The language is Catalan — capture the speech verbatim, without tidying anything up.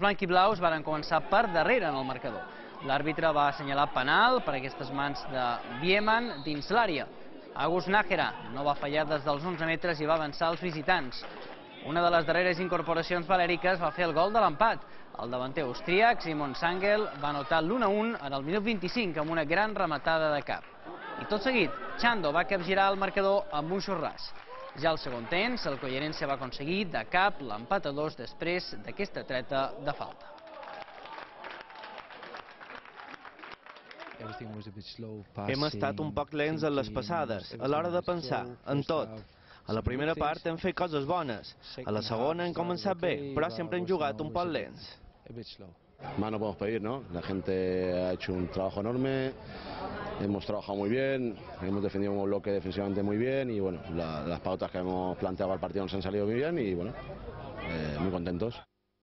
blanquiblaus van començar per darrere en el marcador. L'àrbitre va assenyalar penal per aquestes mans de Bieman dins l'àrea. Agus Nájera no va fallar des dels onze metres i va avançar els visitants. Una de les darreres incorporacions valèriques va fer el gol de l'empat. El davanter austríac, Simon Sangel, va anotar l'u a un en el minut vint-i-cinc amb una gran rematada de cap. I tot seguit, Chando va capgirar el marcador amb un xorràs. Ja al segon temps, el Collerense va aconseguir de cap l'empat a dos després d'aquesta treta de falta. Hem estat un poc lents en les passades, a l'hora de pensar, en tot. A la primera part hem fet coses bones, a la segona hem començat bé, però sempre hem jugat un poc lents. Más no podemos pedir, ¿no? La gente ha hecho un trabajo enorme, hemos trabajado muy bien, hemos defendido un bloque defensivamente muy bien y bueno, la, las pautas que hemos planteado al partido nos han salido muy bien y bueno, eh, muy contentos.